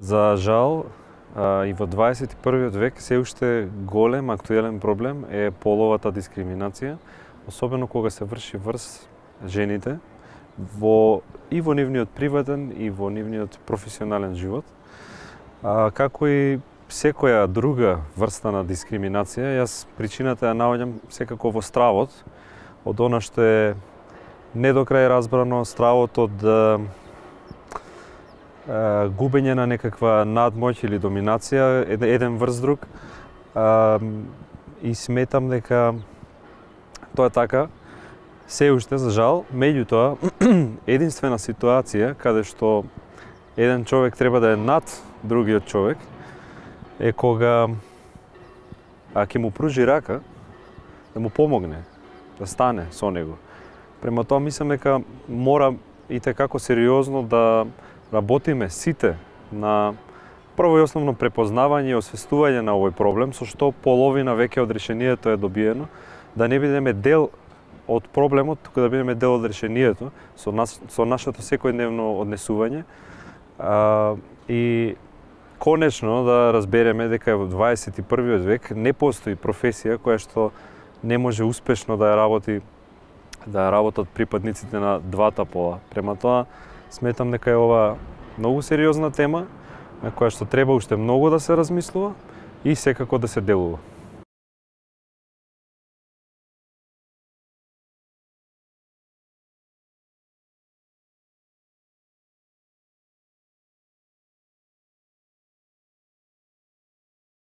За жал, и во 21. век се уште голем актуелен проблем е половата дискриминација, особено кога се врши врз жените и во нивниот приватен и во нивниот професионален живот. Како и секоја друга врста на дискриминација, јас причината ја наоѓам секако во стравот, од она што е не до крај разбрано, стравот од губење на некаква надмоќ или доминација еден врз друг, и сметам дека тоа е така се уште за жал. Меѓутоа, единствена ситуација каде што еден човек треба да е над другиот човек е кога ќе му пружи рака, да му помогне, да стане со него. Према тоа мислам дека мора и tekako сериозно да работиме сите на прво и основно препознавање и освестување на овој проблем, со што половина веќе од решението е добиено, да не бидеме дел од проблемот, туку да бидеме дел од решението со нашето секојдневно однесување, и конечно да разбереме дека во 21. век не постои професија која што не може успешно да ја работат припадниците на двата пола. Према тоа, сметам дека е ова многу сериозна тема, на која што треба уште многу да се размислува и секако да се делува.